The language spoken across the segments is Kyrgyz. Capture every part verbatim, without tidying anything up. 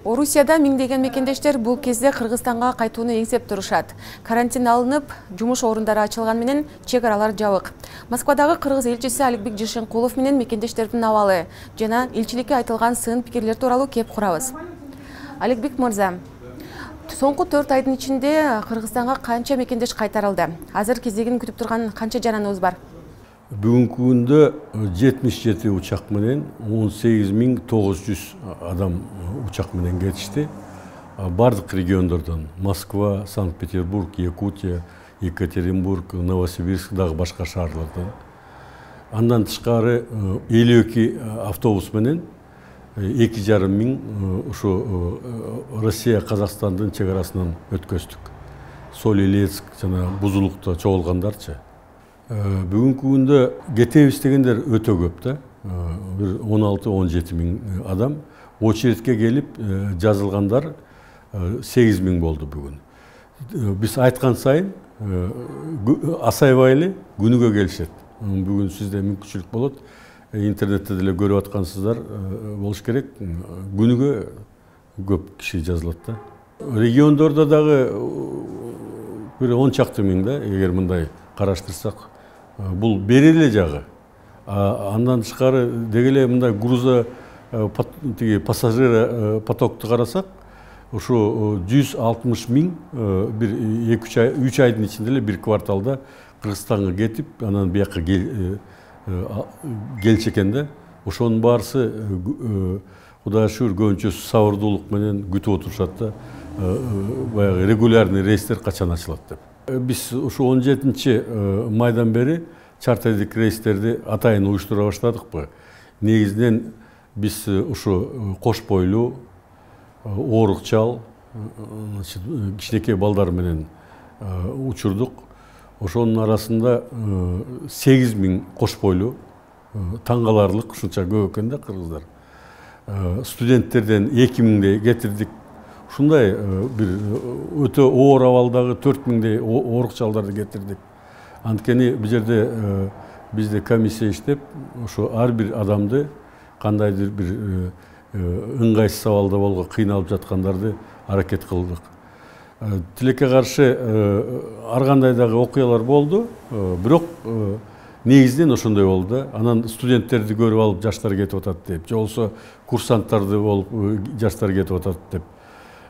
Орусияда миңдеген мекендештер бул кезде Кыргызстанга кайтууну эңсеп турушат. Карантин алынып, жумуш орундары ачылган менен чек аралар жабык. Москвадагы кыргыз элчиси Аликбек Жишенкулов менен мекендештердин абалы жана элчиликке айтылган сын пикирлер тууралуу кеп курабыз. Аликбек мырза, соңку төрт айдын ичинде Кыргызстанга канча мекендеш кайтарылды? Азыр кезегин күтүп турган канча жараныбыз бар? Бүгүнкү күндө жетимиш жети учак менен он сегиз миң тогуз жүз адам учак менен кетишти. Бардык региондордон Москва, Санкт-Петербург, Якутия, Екатеринбург, Новосибирск дагы башка шаарлардан. Андан тышкары элүү эки автобус менен эки жарым миң ушу Россия Казакстандын чек арасынан өткөздүк. Соль-Илецк жана Бузулукта чогулгандарчы. Бүгүнкү күндө кетебиз дегендер өтө көп да. Бир он алты он жети миң адам. Очередке келип жазылгандар сегиз миң болду бүгүн. Биз айткан сайын асайбай эле күнүгө келишет. Бүгүн сизде мүмкүнчүлүк болот. Интернетте деле көрүп аткансыздар болуш керек. Күнүгө көп киши жазылат да. Региондордо дагы бир он чакты миң да, эгер мындай караштырсак. Бул бери эле жагы. Андан тышкары деги эле мындай груза тиги пассажир потокту карасак, ушу жүз алтымыш миң бир эки үч ай үч айдын ичинде эле бир кварталда Кыргызстанга кетип, анан бияка келчү экен да. Ошонун баарысы Кудайга шүгүр көбүнчөсү сабырдуулук менен күтүп отурушат да. Баягы регулярный рейстер качан ачылат деп. Биз ушу он жетинчи майдан бери чартердик рейстерди атайын уюштура баштадыкпы. Негизинен биз ушу кош бойлуу, оорукчал, кичинекей балдар менен учурдук. Ошонун арасында сегиз миң кош бойлуу, таң каларлык ушунча көп экен да кыргыздар. Студенттерден эки миңдей кетирдик. Ушундай бир өтө оор абалдагы төрт миңдей оорукчалдарды кетирдик. Анткени бул жерде бизде комиссия иштеп, ошо ар бир адамды кандайдыр бир ыңгайсыз абалда болгон кыйналып жаткандарды аракет кылдык. Тилекке каршы ар кандай дагы окуялар болду, бирок негизинен ошондой болду да. Анан студенттерди көрүп алып жаштар кетип атат деп, же болбосо курсанттарды болуп жаштар кетип атат деп.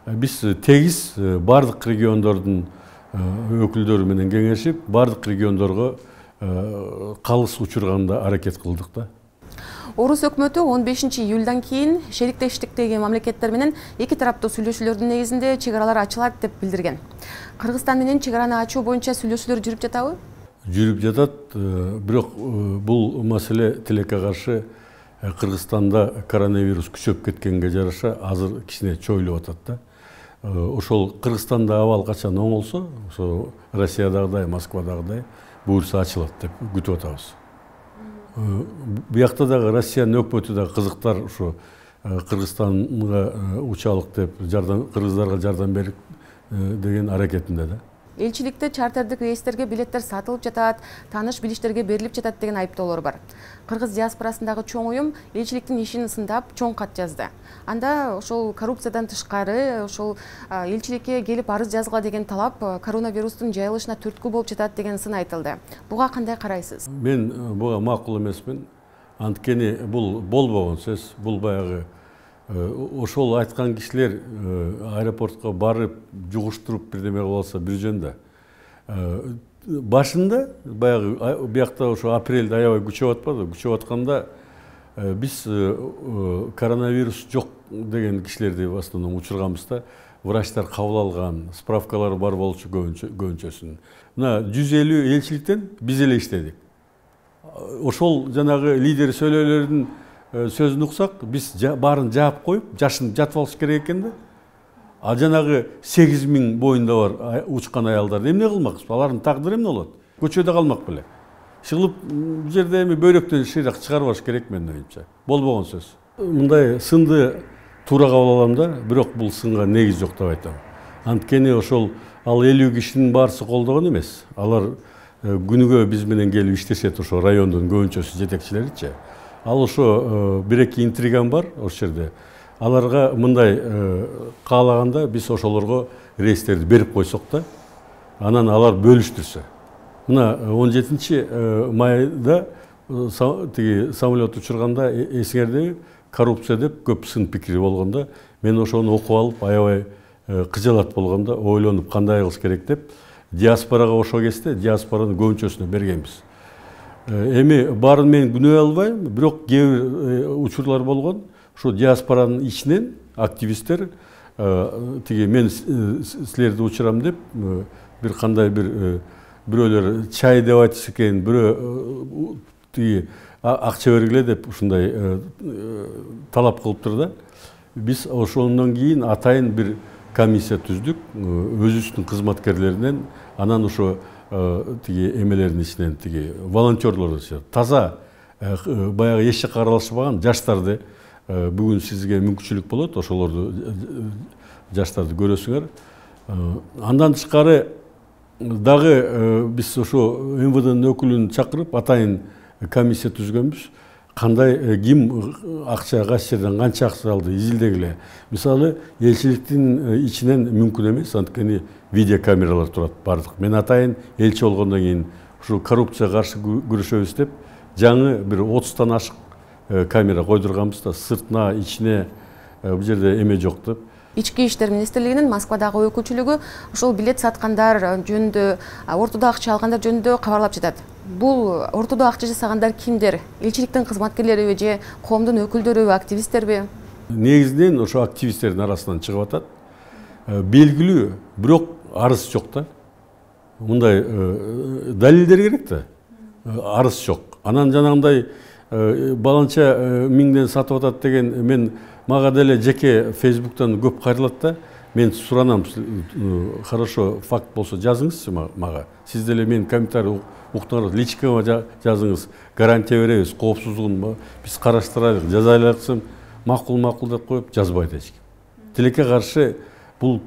Биз тегиз бардык региондордун өкүлдөрү менен кеңешип, бардык региондорго калыс учурганда аракет кылдык да. Орус өкмөтү он бешинчи июльдан кийин шериктештиктеги мамлекеттер менен эки тараптуу сүйлөшүүлөрдүн негизинде чек аралар ачылат деп билдирген. Кыргызстан менен чек араны ачуу боюнча сүйлөшүүлөр жүрүп жатабы? Жүрүп жатат, бирок бул маселе тилекке каршы Кыргызстанда коронавирус күчөп кеткенге жараша азыр кичине чойлуп атат да. Ошол Кыргызстанда абал качан оңолсо, ошо Россиядагыдай, Москвадагыдай буюрса ачылат деп күтүп атабыз. Буякта дагы Россиянын өкмөтү дагы кызыктар ушу Кыргызстанга учалык деп, жардам кыргыздарга жардам берип деген аракетинде да. Элчиликте чартердик рейстерге билеттер сатылып жатат, тааныш билиштерге берилип жатат деген айыптоолор бар. Кыргыз диаспорасындагы чоң уюм элчиликтин ишин сындап, чоң кат жазды. Анда ошол коррупциядан тышкары, ошол элчиликке келип арыз жазгыла деген талап коронавирустун жайылышына түрткү болуп жатат деген сын айтылды. Буга кандай карайсыз? Мен буга макул эмесмин. Анткени бул болбогон сөз, бул баягы ошол айткан кишилер аэропортко барып, жугуштуруп бирдеме кылып алса бир жөн да. Башында баягы биякта ошо апрелде аябай күчөп атпады, күчөп атканда биз коронавирус жок деген кишилерди в основном учурганбыз да. Врачтар кабыл алган, справкалары бар болчу көбүнчөсүнүн. Мына жүз элүү элчиликтен биз эле иштедик. Ошол жанагы лидер сөйлөөлөрдүн сөзүн уксак, биз баарын жаап коюп, жашын жатып алыш керек экен да. А жанагы сегиз миң боюнда бар учкан аялдарды эмне кылмакпыз? Алардын тагдыры эмне болот? Көчөдө калмак беле? Шыгылып, бул жерде эми бөйрөктөн шыйрак чыгарбаш керек менин оюмча. Болбогон сөз. Мындай сынды туура кабыл алам да, бирок бул сынга негиз жок деп айтам. Анткени ошол ал элүү кишинин баарысы колдогон эмес. Алар күнүгө биз менен келип иштешет, ошо райондун көбүнчөсү жетекчилеричи. Ал ошо бир эки интриган бар ошол жерде. аларга мындай каалаганда биз ошолорго рейстерди берип койсок да, анан алар бөлүштүрсө. Мына он жетинчи майда тиги самолет учурганда эсиңердеби, коррупция деп көп сын пикири болгондо, мен ошону окуп алып, аябай кыжалат болгондо ойлонуп кандай кылыш керек деп, диаспорага ошо кезде диаспоранын көбүнчөсүнө бергенбиз. Эми баарын мен күнөө албайм, бирок кээ бир учурлар болгон. Ошо диаспоранын ичинен активисттер тиги мен силерди учурам деп бир кандай бир бирөөлөр чай деп айтыш экен, бирөө тиги акча бергиле деп ушундай талап кылыптыр да. Биз ошондон кийин атайын бир комиссия түздүк, өзүбүздүн кызматкерлеринен, анан ошо тиги эмелердин ичинен, тиги волонтерлордун ичинен таза баягы эч жакка аралашпаган жаштарды, бүгүн сизге мүмкүнчүлүк болот, ошолорду жаштарды көрөсүңөр. Андан тышкары дагы биз ошо эм вэ дэнин өкүлүн чакырып атайын комиссия түзгөнбүз. Кандай ким акча кайсы жерден канча акча алды изилдегиле. Мисалы, элчиликтин ичинен мүмкүн эмес, анткени видеокамералар турат бардык. Мен атайын элчи болгондон кийин ушу коррупцияга каршы күрөшөбүз деп жаңы бир отуздан ашык камера койдурганбыз да, сыртына, ичине бул жерде эме жок деп. Ички иштер министрлигинин Москвадагы өкүлчүлүгү ушул билет саткандар жөнүндө, ортодо акча алгандар жөнүндө кабарлап жатат. Бул ортодо акча жасагандар кимдер? Элчиликтин кызматкерлериби же коомдун өкүлдөрүбү, активисттерби? Негизинен ошо активисттердин арасынан чыгып атат. Белгилүү, бирок арыз жок да. Мындай далилдер керек да. Арыз жок. Анан жанагындай баланча миңден сатып атат деген мен мага деле жеке Фейсбуктан көп кайрылат да. Мен суранам, хорошо, факт болсо жазыңызчы мага. Сиз деле мен комментарий уктуңуз, личкага жазыңыз, гарантия беребиз, коопсуздугун биз караштырайлык, жазайлыксым, макул-макул деп коюп жазбайт эч ким. Тилекке каршы бул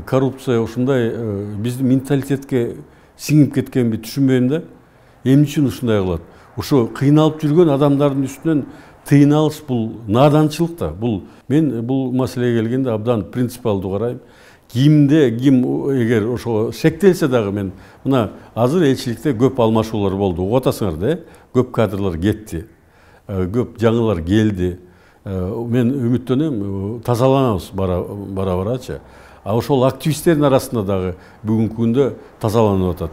коррупция ушундай биздин менталитетке сиңип кеткенби түшүнбөйм да. Эмне үчүн ушундай кылат? Ошо кыйналып жүргөн адамдардын үстүнөн тыйын алыш бул наданчылык да. Бул мен бул маселеге келгенде абдан принципиалдуу карайм. Кимде ким эгер ошо шектелсе дагы, мен мына азыр элчиликте көп алмашуулар болду. Угуп атасыңар да, көп кадрлар кетти. Көп жаңылар келди. Мен үмүттөнөм, тазаланабыз бара-барачы. А ошол активисттердин арасында дагы бүгүнкү күндө тазаланып атат.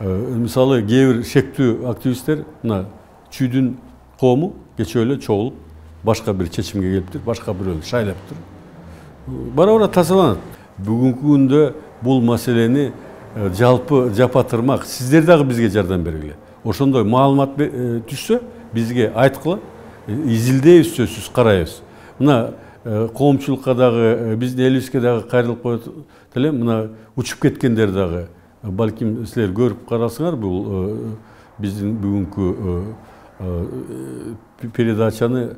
Мисалы, кээ бир шектүү активисттер мына чүйдүн коому кечээ эле чогулуп башка бир чечимге келиптир, башка бирөөнү шайлаптыр. Бара-бара тазаланат. Бүгүнкү күндө бул маселени жалпы жапатырмак, сиздер дагы бизге жардам бергиле. Ошондой маалымат түшсө, бизге айткыла, изилдейбиз, сөзсүз карайбыз. Мына коомчулукка дагы, биздин элибизге дагы кайрылып коет элем, мына учуп кеткендер дагы, балким силер көрүп карасыңар, бул биздин бүгүнкү передачаны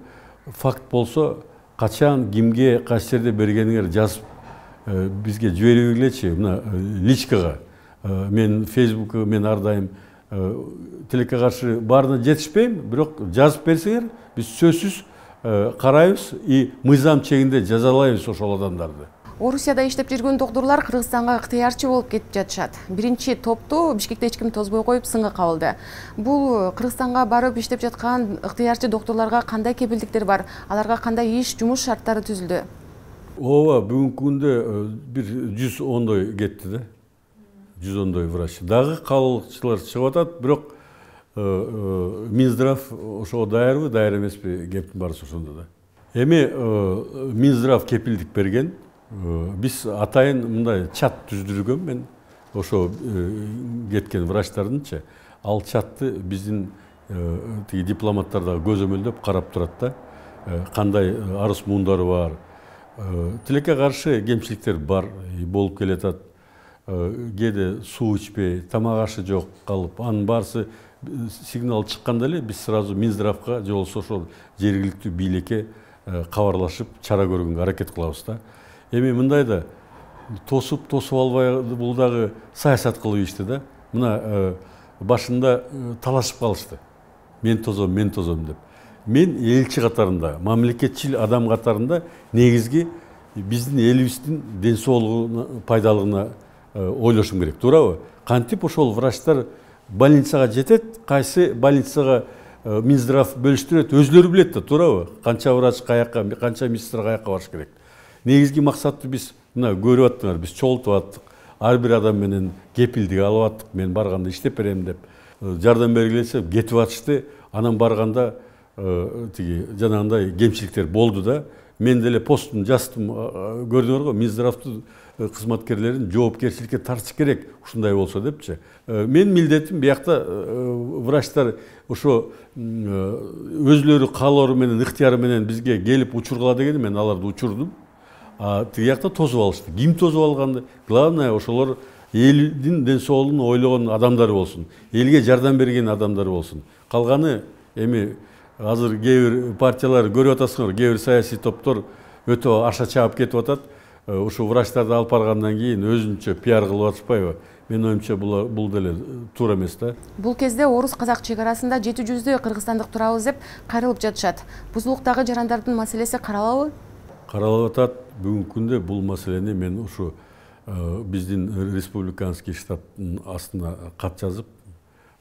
факт болсо, качан, кимге, кайсы жерде бергениңер жазып бизге жиберибегилечи, мына личкага. Мен Фейсбукка мен ар дайым тилекке каршы баарына жетишпейм, бирок жазып берсеңер, биз сөзсүз карайбыз и мыйзам чегинде жазалайбыз ошол адамдарды. Орусияда иштеп жүргөн доктурлар Кыргызстанга ыктыярчы болуп кетип жатышат. Биринчи топту Бишкекте эч ким тозбой коюп сынга кабылды. Бул Кыргызстанга барып иштеп жаткан ыктыярчы доктурларга кандай кепилдиктер бар? Аларга кандай иш, жумуш шарттары түзүлдү? Ооба, бүгүнкү күндө бир жүз ондой кетти да. жүз ондой врач. Дагы калыгчылар чыгып атат, бирок Минздрав ошого даярбы, даяр эмеспи, кептин баарысы ошондо да. Эми Минздрав кепилдик берген. Биз атайын мындай чат түздүргөн, мен ошо кеткен врачтардынчы. Ал чатты биздин тиги дипломаттар дагы көзөмөлдөп карап турат да. Кандай арыз муундары бар. Тилекке каршы кемчиликтер бар, болуп келатат. Кээде суу ичпей, тамак ашы жок калып, анын баарысы сигнал чыкканда эле биз сразу Минздравга же болбосо ошол жергиликтүү бийликке кабарлашып, чара көргөнгө аракет кылабыз да. Эми мындай да тосуп, тосуп албай, бул дагы саясат кылып ишти да. Мына башында талашып калышты. Мен тозом, мен тозом деп. мен элчи катарында, мамлекетчил адам катарында негизги биздин элибиздин ден соолугуна, пайдалыгына ойлошум керек, туурабы? Кантип ошол врачтар больницага жетет, кайсы больницага Минздрав бөлүштүрөт, өзлөрү билет да, туурабы? Канча врач каяка, канча медсестра каяка барыш керек. Негизги максатты биз мына көрүп аттыңар, биз чогултуп аттык. Ар бир адам менен кепилдик алып аттык. Мен барганда иштеп берем деп, жардам бергиле десем кетип атышты. Анан барганда тиги жанагындай кемчиликтер болду да. Мен деле постун жаздым, көрдүңөр го, Минздравдын кызматкерлерин жоопкерчиликке тартыш керек, ушундай болсо депчи. Мен милдетим биякта врачтар ошо өзлөрү каалоору менен, ыктыяры менен бизге келип учургула дегени, мен аларды учурдум. А тиги жакта тосуп алышты. Ким тосуп алганды? Главное, ошолор элдин ден соолугун ойлогон адамдары болсун, элге жардам берген адамдары болсун. Калганы эми азыр кээ бир партиялар көрүп атасыңар, кээ бир саясий топтор өтө аша чаап кетип атат. Ушу врачтарды алып баргандан кийин өзүнчө пиар кылып атышпайбы? Мен оюмча бул бул деле туура эмес да. Бул кезде орус-казак чек арасында жети жүздөй кыргызстандык турабыз деп кайрылып жатышат. Бузулуктагы жарандардын маселеси каралабы? Каралып атат. Бүгүнкү күндө бул маселени мен ушу биздин республиканский штабтын астына кат жазып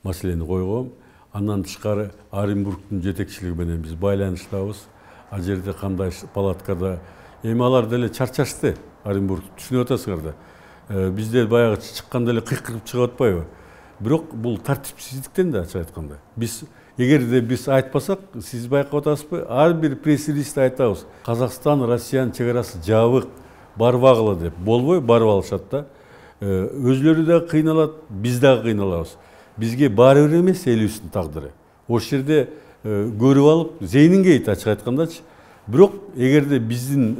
маселени койгом. Андан тышкары Оренбургдун жетекчилиги менен биз байланыштабыз. Ал жерде кандай палаткада эми алар деле чарчашты. Оренбург түшүнүп атасыңар да. Бизде баягы чыкканда эле кыйкырып чыгып атпайбы? Бирок бул тартипсиздиктен да, ачык айтканда. Биз эгерде биз айтпасак, сиз байкап атасызбы? Ар бир пресс-релизде айтабыз. Казакстан, Россиянын чек арасы жабык, барбагыла деп. Болбой барып алышат да. Өзлөрү да кыйналат, биз дагы кыйналабыз. Бизге баары бир эмес элибиздин тагдыры. Ошол жерде көрүп алып, зейнин кейт, ачык айткандачы. Бирок эгерде биздин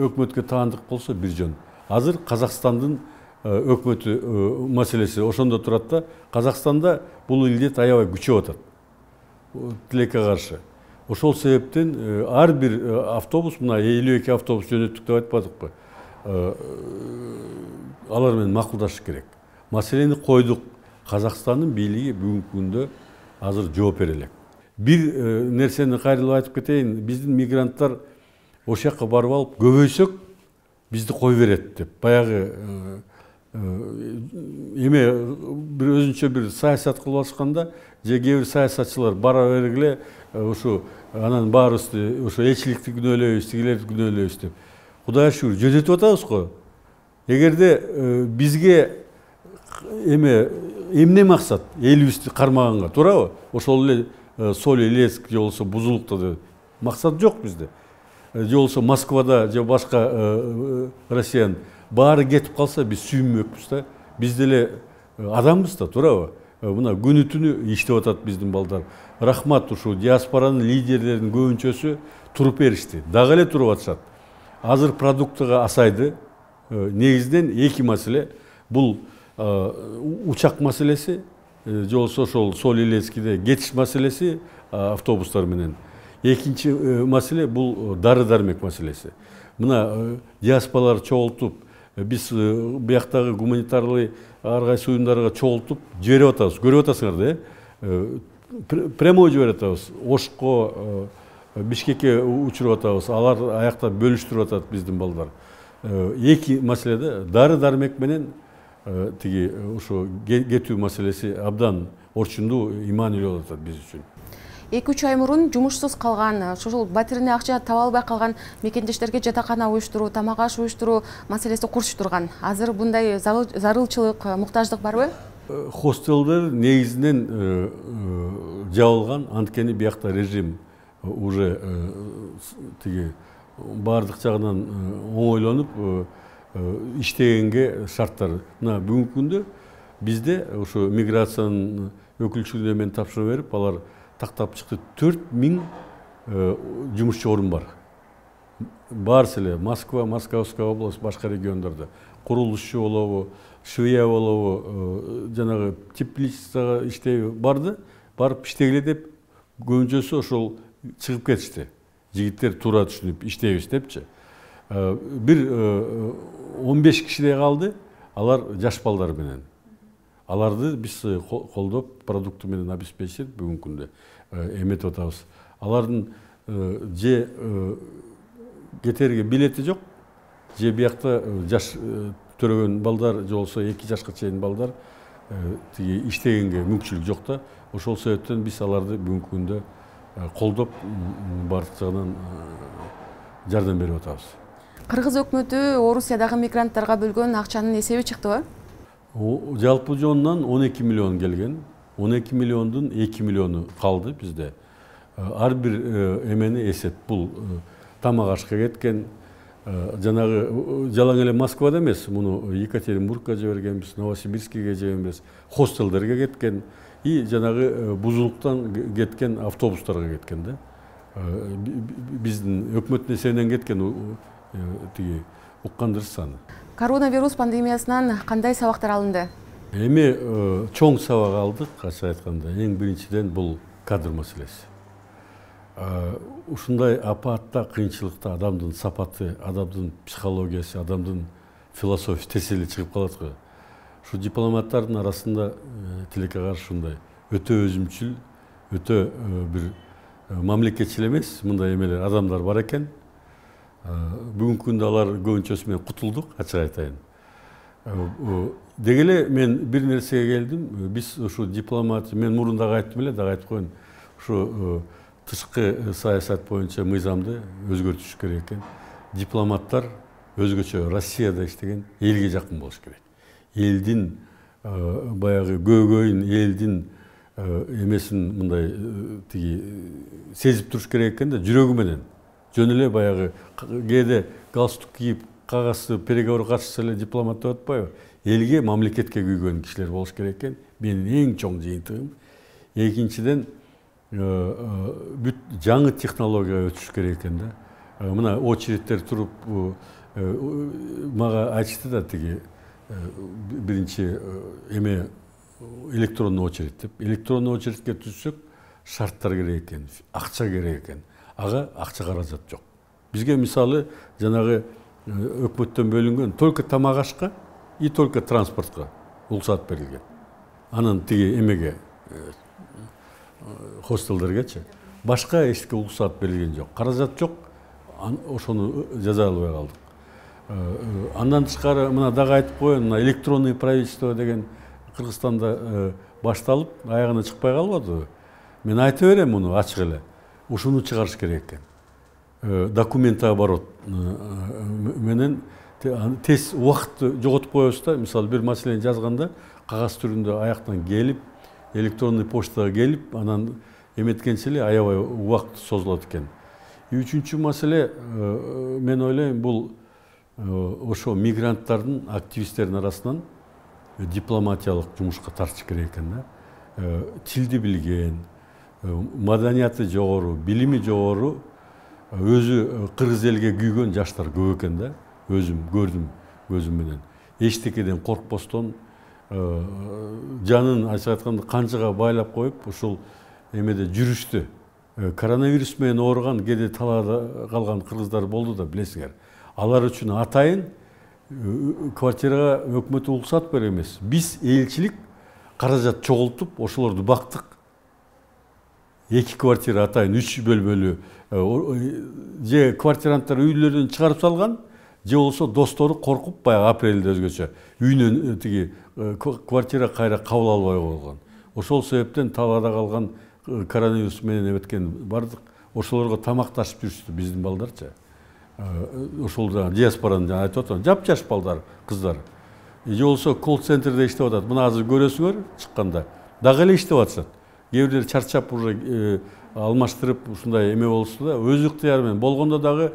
өкмөткө таандык болсо бир жөн. Азыр Казакстандын өкмөтү маселеси ошондо турат да. Казакстанда бул илдет аябай күчөп атат. Тилекке каршы. Ошол себептен ар бир автобус, мына элүү эки автобус жөнөттүк деп айтпадыкпы? Алар менен макулдашыш керек. Маселени койдук. Казакстандын бийлиги бүгүнкү күндө азыр жооп бере элек. Бир нерсени кайрылып айтып кетейин. Биздин мигранттар ошол жакка барып алып, көбөйсөк бизди кой берет деп. Баягы эме бир өзүнчө бир саясат кылып алышканда, же кээ бир саясатчылар бара бергиле ушу анан баарыбызды ошо элчиликти күнөөлөйбүз, тигилерди күнөөлөйбүз деп. Кудайга шүгүр, жөнөтүп атабыз го. Эгерде бизге эме эмне максат элибизди кармаганга, туурабы? Ошол эле Соль Илецк же болсо Бузулукта деп максат жок бизде. Же болсо Москвада же башка Россиянын баары кетип калса биз сүйүнмөкпүз да. Биз деле адамбыз да, туурабы? Мына күнү түнү иштеп атат биздин балдар. Рахмат, ушу диаспоранын лидерлеринин көбүнчөсү туруп беришти. Дагы эле туруп атышат. Азыр продуктыга асайды. Негизинен эки маселе. Бул учак маселеси, же болсо ошол Соль Илецкиде кетиш маселеси автобустар менен. Экинчи маселе бул дары-дармек маселеси. Мына диаспоралар чогултуп, биз бияктагы гуманитарлык ар кайсы уюмдарга чогултуп жиберип атабыз. Көрүп атасыңар да, прямой жиберип атабыз. Ошко, Бишкекке учуруп атабыз. Алар аякта бөлүштүрүп атат биздин балдар. Эки маселеде дары-дармек менен тиги ушу кетүү маселеси абдан орчундуу, иманилүү болуп атат биз үчүн. эки үч ай мурун жумушсуз калган, ошол батирине акча таба албай калган мекендештерге жатакана уюштуруу, тамак аш уюштуруу маселеси курч турган. Азыр мындай зарылчылык, муктаждык барбы? Хостелдер негизинен жабылган, анткени биякта режим уже тиги баардык жагынан оңойлонуп иштегенге шарттар. Мына бүгүнкү күндө бизде ошо миграциянын өкүлчүлүгүнө мен тапшырып берип, алар тактап чыкты. төрт миң жумушчу орун бар. Баарысы эле Москва, Московская область, башка региондордо. Курулушчу болобу, швея болобу, жанагы тепличкага иштейби барды, барып иштегиле деп көбүнчөсү ошол чыгып кетишти. Жигиттер туура түшүнүп иштейбиз депчи. Бир он беш кишидей калды, алар жаш балдар менен. Аларды биз колдоп, продукты менен обеспечить бүгүнкү күндө эметип атабыз. алардын же кетерге билети жок, же биякта жаш төрөгөн балдар, же болбосо эки жашка чейин балдар тиги иштегенге мүмкүнчүлүк жок да. Ошол себептен биз аларды бүгүнкү күндө колдоп бардык жагынан жардам берип атабыз. Кыргыз өкмөтү Орусиядагы мигранттарга бөлгөн акчанын эсеби чыктыбы? Жалпы жонунан он эки миллион келген. он эки миллиондун эки миллиону калды бизде. Ар бир эмени эсеп, бул тамак ашка кеткен, жанагы жалаң эле Москвада эмес, муну Екатеринбургка жибергенбиз, Новосибирскиге жибергенбиз, хостелдерге кеткен и жанагы бузулуктан кеткен автобустарга кеткен да. Биздин өкмөттүн эсебинен кеткен тиги уккандыр саны. Коронавирус пандемиясынан кандай сабактар алынды? Эми чоң сабак алдык, ачык айтканда. Эң биринчиден бул кадр маселеси. Ушундай апатта, кыйынчылыкта адамдын сапаты, адамдын психологиясы, адамдын философиясы тесели чыгып калат го. Ушу дипломаттардын арасында тилекке каршы ушундай өтө өзүмчүл, өтө бир мамлекетчил эмес мындай эмелер адамдар бар экен. Бүгүнкү күндө алар көбүнчөсү менен кутулдук, ачык айтайын. Деги эле мен бир нерсеге келдим. Биз ушу дипломат, мен мурун дагы айттым эле, дагы айтып коеюн. Ушу тышкы саясат боюнча мыйзамды өзгөртүш керек экен. Дипломаттар өзгөчө Россияда иштеген элге жакын болуш керек. Элдин баягы көөгөйүн, элдин эмесин мындай тиги сезип туруш керек экен да, жүрөгү менен. Жөн эле баягы кээде галстук кийип, кагазды переговорга катышса эле дипломат деп атпайбы? Элге, мамлекетке күйгөн кишилер болуш керек экен. Менин эң чоң жыйынтыгым. Экинчиден, бүт жаңы технологияга өтүш керек экен да. Мына очередтер туруп мага айтышты да тиги биринчи эме электронный очередь деп. Электронный очередке түшсөк, шарттар керек экен, акча керек экен. Ага акча каражат жок. Бизге мисалы жанагы өкмөттөн бөлүнгөн только тамак ашка и только транспортко уруксат берилген. Анан тиги эмеге хостелдергечи башка эчке уруксат берилген жок. Каражат жок. Ошону жаза албай калдык. Андан тышкары мына дагы айтып коеюн, мына электронный правительство деген Кыргызстанда башталып, аягына чыкпай калбадыбы? Мен айта берем муну ачык эле. Ушуну чыгарыш керек экен. Документооборот менен тез убакытты жоготуп коебуз да. Мисалы бир маселени жазганда кагаз түрүндө аяктан келип, электронный почтага келип, анан эметкенче эле аябай убакыт созулат экен. Үчүнчү маселе, мен ойлойм, бул ошо мигранттардын, активисттердин арасынан дипломатиялык жумушка тартыш керек экен да. Тилди билген, маданияты жогору, билими жогору, өзү кыргыз элге күйгөн жаштар көп экен да. Өзүм көрдүм көзүм менен. Эчтекеден коркпостон, жанын ачык айтканда канчага байлап коюп, ушул эмеде жүрүштү. Коронавирус менен ооруган кээде талаада калган кыргыздар болду да, билесиңер. Алар үчүн атайын квартирага өкмөт уруксат берет эмес. Биз элчилик каражат чогултуп, ошолорду бактык. Эки квартира атайын үч бөлмөлүү же квартиранттар үйлөрүн чыгарып салган, же болсо достору коркуп баягы апрелде өзгөчө үйүнөн тиги квартира кайра кабыл албай койгон. Ошол себептен талаада калган коронавирус менен эметкен бардык. Ошолорго тамакташып жүрүштү биздин балдарчы. Ошол да диаспоранын айтып атам, жап-жаш балдар, кыздар. Же болсо колл-центрде иштеп атат. Мына азыр көрөсүңөр чыкканда. Дагы эле иштеп атышат. Кээ бирлер чарчап уже алмаштырып ушундай эме болсу да, өз ыктыяры менен болгондо дагы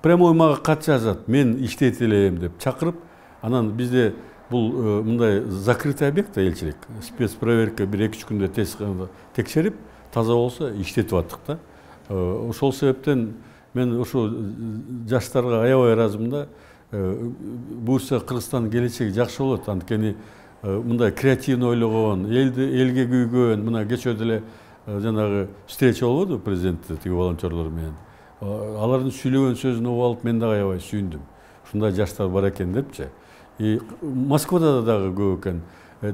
прямой мага кат жазат. Мен иштейт элем деп чакырып, анан бизде бул мындай закрытый объект элчилик. Спецпроверка бир эки үч күндө текшерип, таза болсо иштетип аттык да. Ошол себептен мен ошо жаштарга аябай ыраазымын да. Буюрса Кыргызстандын келечеги жакшы болот. Анткени мындай креативный ойлогон, элди элге күйгөн, мына кечөөдө эле жанагы встреча болбоду президенттин тиги волонтерлор менен. Алардын сүйлөгөн сөзүн угуп алып мен дагы аябай сүйүндүм. Ушундай жаштар бар экен депчи. И Москвада дагы көп экен.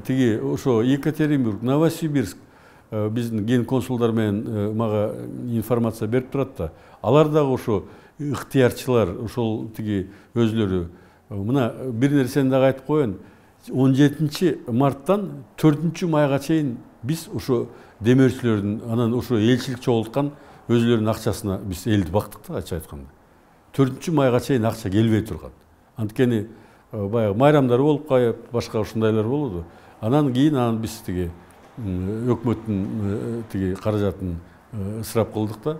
Тиги ошо Екатеринбург, Новосибирск, биздин ген консулдар менен мага информация берип турат да. Алар дагы ошо ыктыярчылар, ошол тиги өзлөрү мына бир нерсени дагы айтып коеюн. он жетинчи марттан төртүнчү майга чейин биз ошо демөөрчүлөрдүн анан ошо элчилик чогулткан өзлөрүнүн акчасына биз элди бактык да, ачык айтканда. төртүнчү майга чейин акча келбей турган. Анткени баягы майрамдар болуп калып, башка ушундайлар болду. Анан кийин анан биз тиги өкмөттүн тиги каражатын ысырап кылдык да.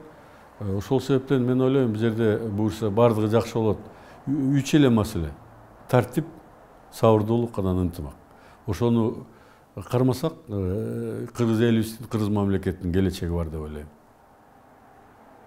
Ошол себептен мен ойлойм, бул жерде буюрса бардыгы жакшы болот. Үч эле маселе: тартип, сабырдуулук, анан ынтымак. Ошону кармасак, кыргыз элибиздин, кыргыз мамлекеттин келечеги бар деп ойлойм.